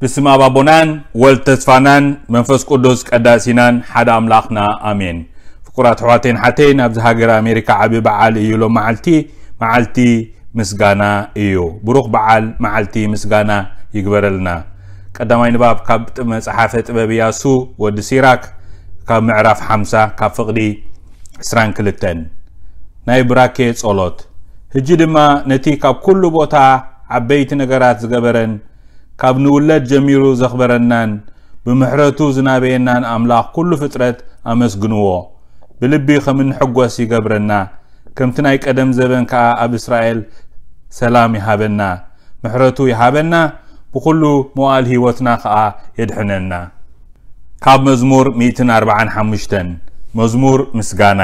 ብስም ኣብ ኣቦናን ወልድ ተስፋናን መንፈስ ቅዱስ ቀዳሲናን ሓደ ኣምላኽና ኣሜን። ፍቁራት ኣሕዋተይን ሓተይን፣ ኣብዚ ሃገር ኣሜሪካ ዓቢ በዓል እዩ። ሎም መዓልቲ፣ መዓልቲ ምስጋና እዩ። ብሩኽ በዓል መዓልቲ ምስጋና ይግበረልና። ቀዳማይ ንባብ ካብ መጽሓፈ ጥበብ ኢያሱ ወዲ ሲራክ፣ ካብ ምዕራፍ ሓምሳ፣ ካብ ፍቕዲ ዕስራን ክልተን። ናይ ብራኬ ጸሎት። ሕጂ ድማ ነቲ ካብ ኩሉ ቦታ ዓበይቲ ነገራት ዝገበረን ካብ ንውለድ ጀሚሩ ዘኽበረናን ብምሕረቱ ዝናበየናን ኣምላኽ ኩሉ ፍጥረት ኣመስግንዎ። ብልቢ ከም እንሕጎስ ይገብረና። ከምቲ ናይ ቀደም ዘበን ከኣ ኣብ እስራኤል ሰላም ይሃበና፣ ምሕረቱ ይሃበና፣ ብኹሉ መዋእል ህይወትና ከኣ የድሕነና። ካብ መዝሙር ሚእትን ኣርባዓን ሓሙሽተን። መዝሙር ምስጋና።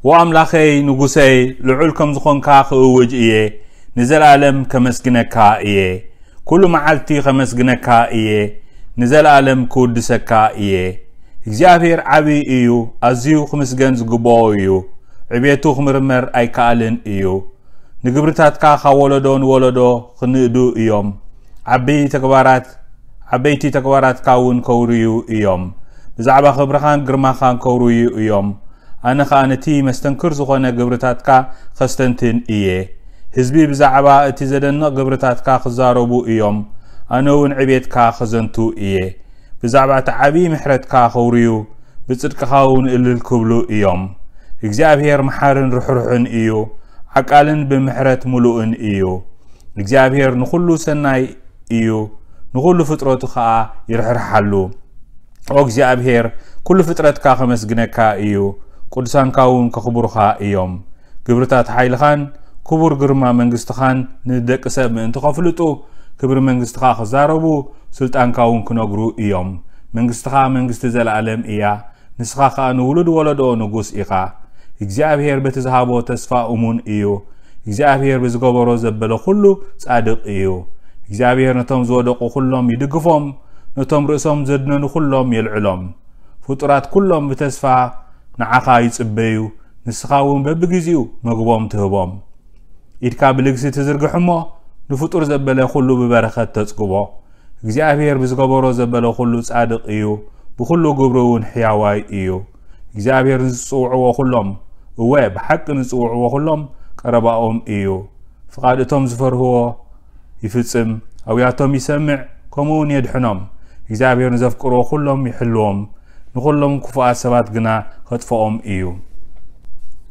ኦ ኣምላኸይ፣ ንጉሰይ፣ ልዑል ከም ዝኾንካ ክእውጅ እየ፣ ንዘለኣለም ከመስግነካ እየ። ኩሉ መዓልቲ ከመስግነካ እየ፣ ንዘለኣለም ክውድሰካ እየ። እግዚኣብሔር ዓቢ እዩ፣ ኣዝዩ ክምስገን ዝግብኦ እዩ። ዕቤቱ ክምርመር ኣይከኣልን እዩ። ንግብርታትካ ካብ ወለዶ ንወለዶ ክንእዱ እዮም። ዓቢ ተግባራት፣ ዓበይቲ ተግባራትካ እውን ከውርዩ እዮም። ብዛዕባ ክብርኻን ግርማኻን ከውርዩ እዮም። ኣነ ኸኣ ነቲ መስተንክር ዝኾነ ግብርታትካ ኸስተንትን እየ። ህዝቢ ብዛዕባ እቲ ዘደንቕ ግብርታትካ ክዛረቡ እዮም። ኣነ እውን ዕቤትካ ኸዘንቱ እየ። ብዛዕባ እቲ ዓብዪ ምሕረትካ ኸውርዩ፣ ብጽድቅኻ እውን እልል ክብሉ እዮም። እግዚኣብሔር መሓርን ርሕሩሕን እዩ፣ ዓቃልን ብምሕረት ምሉእን እዩ። እግዚኣብሔር ንኹሉ ሰናይ እዩ፣ ንኹሉ ፍጥረቱ ኸኣ ይርሕርሓሉ። ኦ እግዚኣብሔር፣ ኩሉ ፍጥረትካ ከመስግነካ እዩ፣ ቅዱሳንካ እውን ከኽብሩኻ እዮም። ግብርታት ሓይልኻን ክቡር ግርማ መንግስትኻን ንደቂ ሰብ ምእንቲ ከፍልጡ፣ ክብሪ መንግስትኻ ክዛረቡ፣ ስልጣንካ እውን ክነግሩ እዮም። መንግስትኻ መንግስቲ ዘለኣለም እያ፣ ንስኻ ኸኣ ንውሉድ ወለዶ ንጉስ ኢኻ። እግዚኣብሔር በቲ ዝሃቦ ተስፋ እሙን እዩ። እግዚኣብሔር ብዝገበሮ ዘበለ ኩሉ ጻድቕ እዩ። እግዚኣብሔር ነቶም ዝወደቑ ኩሎም ይድግፎም፣ ነቶም ርእሶም ዘድነኑ ኩሎም የልዕሎም። ፍጡራት ኩሎም ብተስፋ ንዓኻ ይጽበዩ፣ ንስኻ እውን በብግዜኡ መግቦም ትህቦም። ኢድካ ብልግሲ ትዝርግሕ እሞ፣ ንፍጡር ዘበለ ኩሉ ብበረኸት ተጽግቦ። እግዚኣብሔር ብዝገበሮ ዘበለ ኩሉ ጻድቕ እዩ፣ ብኹሉ ግብሩ እውን ሕያዋይ እዩ። እግዚኣብሔር ንዝጽውዕዎ ኩሎም፣ እወ፣ ብሓቂ ንዝጽውዕዎ ኩሎም ቀረባኦም እዩ። ፍቓድ እቶም ዝፈርህዎ ይፍጽም፣ ኣውያቶም ይሰምዕ፣ ከምኡ እውን የድሕኖም። እግዚኣብሔር ንዘፍቅርዎ ኩሎም ይሕልዎም፣ ንኹሎም ክፉኣት ሰባት ግና ኸጥፍኦም እዩ።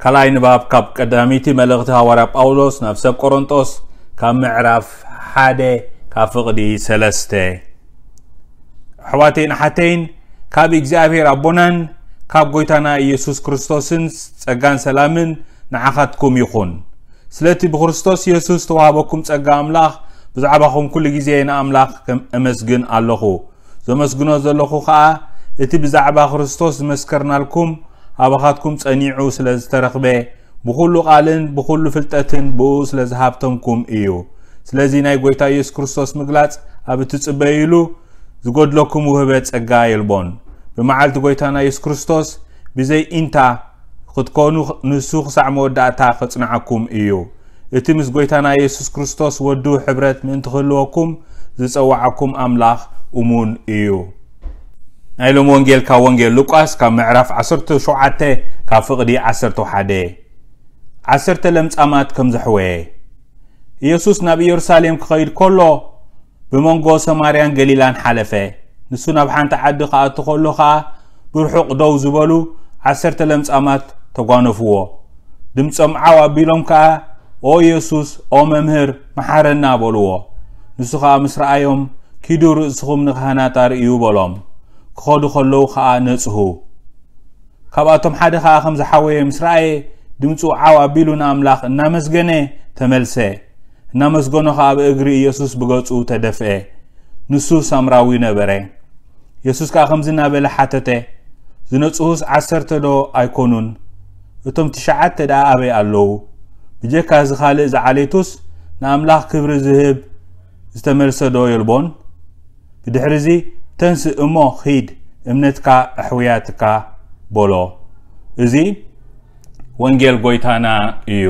ካልኣይ ንባብ ካብ ቀዳመይቲ መልእኽቲ ሃዋርያ ጳውሎስ ናብ ሰብ ቆሮንጦስ፣ ካብ ምዕራፍ ሓደ፣ ካብ ፍቕዲ ሰለስተ። ኣሕዋተይን ኣሓተይን፣ ካብ እግዚኣብሔር ኣቦናን ካብ ጐይታና ኢየሱስ ክርስቶስን ጸጋን ሰላምን ንዓኻትኩም ይኹን። ስለቲ ብክርስቶስ የሱስ ዝተዋህበኩም ጸጋ ኣምላኽ ብዛዕባኹም ኩሉ ግዜ ንኣምላኽ ከም እመስግን ኣለኹ። ዘመስግኖ ዘለኹ ኸኣ እቲ ብዛዕባ ክርስቶስ ዝመስከርናልኩም ኣባኻትኩም ጸኒዑ ስለ ዝተረኽበ፣ ብኹሉ ቃልን ብኹሉ ፍልጠትን ብእኡ ስለ ዝሃብተምኩም እዩ። ስለዚ ናይ ጐይታ የሱስ ክርስቶስ ምግላጽ ኣብ እትጽበዩሉ ዝጎድለኩም ውህበት ጸጋ የልቦን። ብመዓልቲ ጐይታና የሱስ ክርስቶስ ብዘይ ኢንታ ክትኮኑ ንሱ ክሳዕ መወዳእታ ከጽንዓኩም እዩ። እቲ ምስ ጐይታና የሱስ ክርስቶስ ወዱ ሕብረት ምእንቲ ክህልወኩም ዝጸዋዓኩም ኣምላኽ እሙን እዩ። ናይ ሎሚ ወንጌል ካብ ወንጌል ሉቃስ ካብ ምዕራፍ ዓሰርተ ሸውዓተ ካብ ፍቕዲ ዓሰርተ ሓደ። ዓሰርተ ለምጻማት ከም ዘሕወየ። ኢየሱስ ናብ ኢየሩሳሌም ክኸይድ ከሎ ብመንጎ ሰማርያን ገሊላን ሓለፈ። ንሱ ናብ ሓንቲ ዓዲ ክኣቱ ከሎ ኸኣ ብርሑቕ ደው ዝበሉ ዓሰርተ ለምጻማት ተጓነፍዎ። ድምጾም ዓው ኣቢሎም ከኣ፣ "ኦ የሱስ፣ ኦ መምህር፣ መሓረና" በልዎ። ንሱ ኸኣ ምስ ረኣዮም፣ "ኪዱ ርእስኹም ንካህናት ኣርእዩ" በሎም። ክኸዱ ከለዉ ኸኣ ነጽሁ። ካብኣቶም ሓደ ኸኣ ከም ዝሓወየ ምስ ረኣየ፣ ድምጹ ዓው ኣቢሉ ንኣምላኽ እናመስገነ ተመልሰ። እናመስገኖ ኸኣ ብእግሪ ኢየሱስ ብገጹ ተደፍአ። ንሱ ሳምራዊ ነበረ። የሱስ ከኣ ከምዚ እናበለ ሓተተ፣ "ዝነጽሁስ ዓሰርተ ዶ ኣይኮኑን? እቶም ትሽዓተ ደኣ ኣበይ ኣለዉ? ብጀካ እዚ ካልእ ዝዓሌቱስ ንኣምላኽ ክብሪ ዝህብ ዝተመልሰ ዶ የልቦን?" ብድሕርዚ፣ "ተንስእ እሞ ኺድ፣ እምነትካ ኣሕውያትካ" በሎ። እዚ ወንጌል ጐይታና እዩ።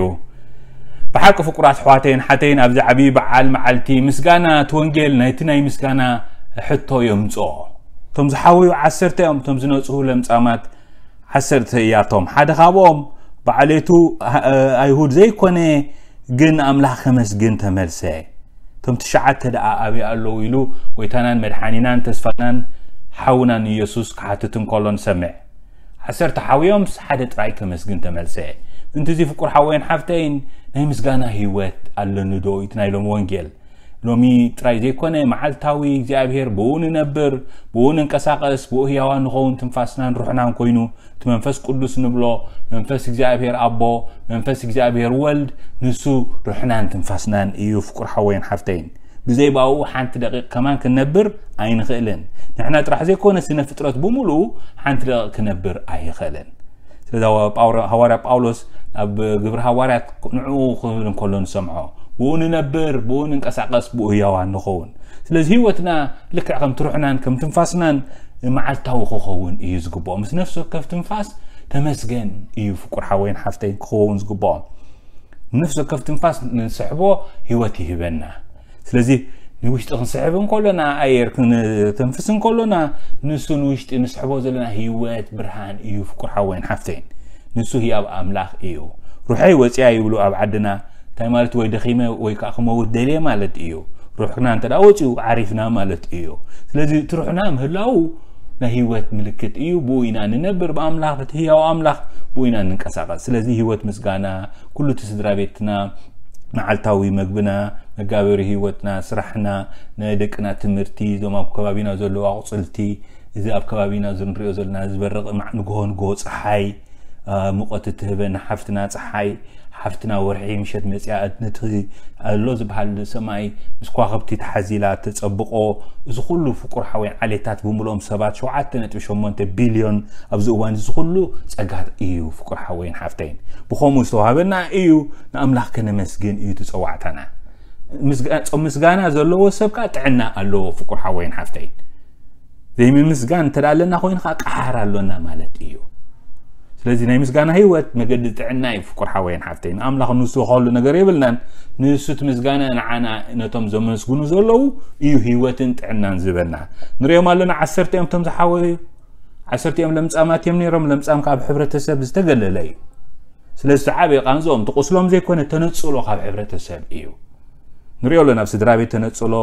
ብሓቂ ፍቁራት ኣሕዋተይን ሓተይን፣ ኣብዚ ዓብዪ በዓል መዓልቲ ምስጋና፣ እቲ ወንጌል ናይቲ ናይ ምስጋና ሕቶ የምፅኦ። እቶም ዝሓወዩ ዓሰርተ እዮም፣ እቶም ዝነፅሁ ለምጻማት ዓሰርተ እያቶም። ሓደ ካብኦም ብዓሌቱ ኣይሁድ ዘይኮነ፣ ግን ኣምላኽ ከመስግን ተመልሰ። እቶም ትሽዓተ ደኣ ኣበይ ኣለዉ ኢሉ ጎይታናን መድሓኒናን ተስፋናን ሓውናን ኢየሱስ ክሓትት እንከሎ ንሰምዕ። ዓሰርተ ሓውዮምስ ሓደ ጥራይ ከመስግን ተመልሰ። ምእንቲ እዚ ፍቁር ሓወይን ሓፍተይን ናይ ምስጋና ህይወት ኣለኒ ዶ? እቲ ናይ ሎሚ ወንጌል ሎሚ ጥራይ ዘይኮነ መዓልታዊ እግዚኣብሔር ብኡ ንነብር፣ ብኡ ንንቀሳቐስ፣ ብኡ ህያዋን ንኸውን ትንፋስናን ሩሕናን ኮይኑ እቲ መንፈስ ቅዱስ ንብሎ መንፈስ እግዚኣብሔር ኣቦ፣ መንፈስ እግዚኣብሔር ወልድ ንሱ ሩሕናን ትንፋስናን እዩ። ፍቁር ሓወይን ሓፍተይን ብዘይ ባኡ ሓንቲ ደቂቕ ከማን ክንነብር ኣይንኽእልን። ንሕና ጥራሕ ዘይኮነ ስነ ፍጥረት ብምሉኡ ሓንቲ ደቂቕ ክነብር ኣይኽእልን። ስለዚ ሃዋርያ ጳውሎስ ኣብ ግብሪ ሃዋርያት ንዕኡ ክብል እንከሎ ንሰምዖ፣ ብኡ ንነብር፣ ብኡ ንንቀሳቐስ፣ ብኡ ህያዋን ንኸውን። ስለዚ ህይወትና ልክዕ ከም ትሩሕናን ከም ትንፋስናን መዓልታዊ ክኸውን እዩ ዝግብኦ። ምስ ነፍሲ ወከፍ ትንፋስ ተመስገን እዩ ፍቁር ሓወይን ሓፍተይን ክኸውን ዝግብኦ። ነፍሲ ወከፍ ትንፋስ ንስሕቦ ህይወት ይህበና። ስለዚ ንውሽጢ ክንስሕብ እንከሎና፣ ኣየር ክንተንፍስ እንከሎና፣ ንሱ ንውሽጢ ንስሕቦ ዘለና ህይወት ብርሃን እዩ ፍቁር ሓወይን ሓፍተይን። ንሱ ህያብ ኣምላኽ እዩ። ሩሐይ ወፂኣ ይብሉ ኣብ ዓድና። እንታይ ማለት? ወይ ደኺመ ወይ ከዓ ክመውት ደልየ ማለት እዩ። ሩሕና እንተ ደኣ ወፂኡ ዓሪፍና ማለት እዩ። ስለዚ እቲ ሩሕና ምህላው ናይ ህይወት ምልክት እዩ። ብኡ ኢና ንነብር፣ ብኣምላኽ፣ በቲ ህያው ኣምላኽ ብኡ ኢና ንንቀሳቐስ። ስለዚ ህይወት ምስጋና፣ ኩሉ እቲ ስድራ ቤትና መዓልታዊ መግብና፣ መጋበሪ ህይወትና፣ ስራሕና፣ ናይ ደቅና ትምህርቲ፣ እዞም ኣብ ከባቢና ዘለዉ ኣቑፅልቲ፣ እዚ ኣብ ከባቢና እዚ ንሪኦ ዘለና ዝበርቕ ንግሆ ንግሆ ፀሓይ፣ ሙቐት እትህበና ሓፍትና ፀሓይ፣ ሓፍትና ወርሒ ምሸት መፅያ ነቲ ኣሎ ዝበሃል ሰማይ ምስ ከዋኽብቲ ተሓዚላ ተፀብቆ፣ እዚ ኩሉ ፍቁር ሓወይን ዓሌታት ብምልኦም ሰባት ሸውዓተ ነጥቢ ሸሞንተ ቢልዮን ኣብዚ እዋን እዚ ኩሉ ፀጋ እዩ ፍቁር ሓወይን ሓፍተይን። ብኸምኡ ዝተዋሃበና እዩ፣ ንኣምላኽ ከነመስግን እዩ እቲ ፀዋዕታና። ጾም ምስጋና ዘለዎ ሰብ ከዓ ጥዕና ኣለዎ ፍቁር ሓወይን ሓፍተይን። ዘይምምስጋን እንተ ኣለና ኮይኑ ከዓ ቀሓር ኣሎና ማለት እዩ። ስለዚ ናይ ምስጋና ህይወት መገዲ ጥዕና እዩ ፍቁር ሓወይን ሓፍተይን። ንኣምላኽ ንሱ ከሉ ነገር የብልናን። ንሱ እቲ ምስጋና ንዓና ነቶም ዘመስግኑ ዘለዉ እዩ ህይወትን ጥዕናን ዝበና። ንሪኦም ኣለና ዓሰርተ እዮም እቶም ዝሓወዩ። ዓሰርተ እዮም ለምጻማት እዮም ነይሮም። ለምጻም ካብ ሕብረተሰብ ዝተገለለ እዩ። ስለዚ ዝዓበየ ቃንዝኦም ትቁስሎም ዘይኮነ ተነጽሎ ካብ ሕብረተሰብ እዩ። ንሪኦ ኣለና ኣብ ስድራ ቤት ተነጽሎ፣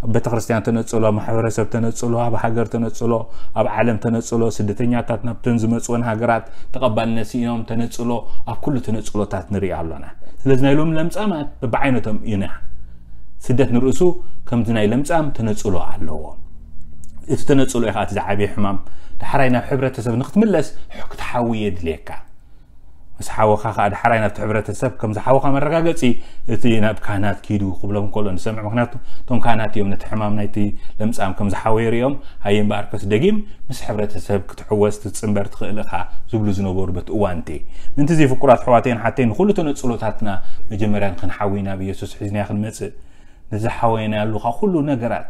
ኣብ ቤተክርስትያን ተነጽሎ፣ ኣብ ማሕበረሰብ ተነጽሎ፣ ኣብ ሃገር ተነጽሎ፣ ኣብ ዓለም ተነጽሎ፣ ስደተኛታት ናብተን ዝመጽወን ሃገራት ተቐባልነት ስኢኖም ተነጽሎ፣ ኣብ ኩሉ ተነጽሎታት ንሪኦ ኣሎና። ስለዚ ናይ ሎም ለምጻማት በብዓይነቶም ኢና። ስደት ንርእሱ ከምዚ ናይ ለምጻም ተነጽሎ ኣለዎ። እቲ ተነጽሎ እዩ ከዓ እቲ ዝዓበየ ሕማም። ዳሕራይ ናብ ሕብረተሰብ ንክትምለስ ክትሓዊ የድልየካ። ምስ ሓወኻ ከዓ ዳሕራይ ናብቲ ሕብረተሰብ ከም ዝሓወኻ መረጋገፂ እቲ ናብ ካህናት ኪዱ ክብሎም ከሎ ንሰምዕ። ምክንያቱ እቶም ካህናት እዮም ነቲ ሕማም ናይቲ ለምጻም ከም ዝሓወየ ሪኦም፣ ሃየ እምበኣርከስ ደጊም ምስ ሕብረተሰብ ክትሕወስ ክትጽንበር ትኽእል ኢኻ ዝብሉ ዝነበሩ በቲ እዋን እቲ። ምእንቲ እዚ ፍቁራት ኣሕዋተይን ሓተይን ንኹሉ ተነጽሎታትና መጀመርያ ንክንሓዊ ናብ ኢየሱስ ሒዝናዮ ክንመጽእ፣ ንዝሓወይናሉ ካብ ኩሉ ነገራት፣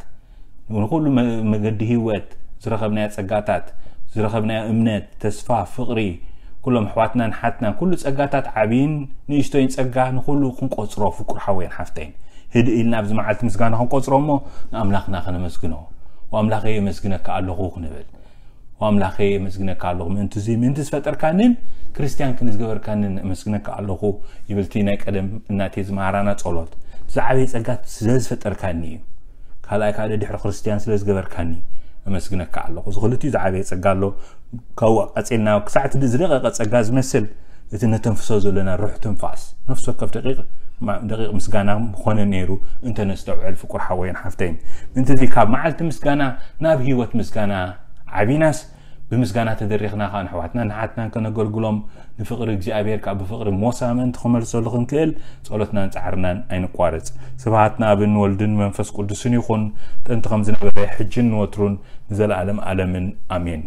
ንኹሉ መ-፣ መገዲ ህይወት፣ ዝረኸብናዮ ጸጋታት፣ ዝረኸብናዮ እምነት፣ ተስፋ፣ ፍቕሪ፣ ኩሎም ኣሕዋትናን ሓትናን፣ ኩሉ ጸጋታት ዓብይን ንእሽቶይን ጸጋ ንኹሉ ክንቆጽሮ፣ ፍቁር ሓወይን ሓፍተይን፣ ህድእ ኢልና ኣብዚ መዓልቲ ምስጋና ክንቆጽሮ እሞ ንኣምላኽና ከነመስግኖ፣ "ወኣምላኸይ የመስግነካ ኣለኹ" ክንብል። "ወኣምላኸይ የመስግነካ ኣለኹ ምእንቲ እዚ፣ ምእንቲ ዝፈጠርካንን ክርስትያን ክንዝገበርካንን እመስግነካ ኣለኹ" ይብል እቲ ናይ ቀደም እናቴ ዝመሃራና ጸሎት። ዝዓበየ ጸጋ ስለ ዝፈጠርካኒ እዩ። ካልኣይ ካልእ ድሕሪ ክርስትያን ስለ ዝገበርካኒ እመስግነካ ኣለኹ። እዚ ክልቲኡ ዝዓበየ ጸጋ ኣሎ። ካብኡ ቀጺልና ክሳዕ እቲ ዝደቐቐ ጸጋ ዝመስል እቲ ነተንፍሶ ዘለና ሩሕ ትንፋስ፣ ነፍሲ ወከፍ ደቂቕ ማ-፣ ደቂቕ ምስጋና ምኾነ ነይሩ እንተ ነስተውዕል ፍቁር ሓወይን ሓፍተይን። ምእንቲ እዚ ካብ መዓልቲ ምስጋና ናብ ህይወት ምስጋና ዓቢናስ ብምስጋና ተደሪኽና ኸዓ ንኣሕዋትናን ንሓትናን ከነገልግሎም፣ ንፍቕሪ እግዚኣብሔር ከኣ ብፍቕሪ ሞሳ ምእንቲ ክመልሰሉ ክንክእል ጸሎትናን ጻዕርናን ኣይንቋርጽ። ስብሃት ንኣብን ወልድን መንፈስ ቅዱስን ይኹን፣ ጥንቲ ከም ዝነበረ፣ ሕጅን ንወትሩን ንዘለኣለም ኣለምን። ኣሜን።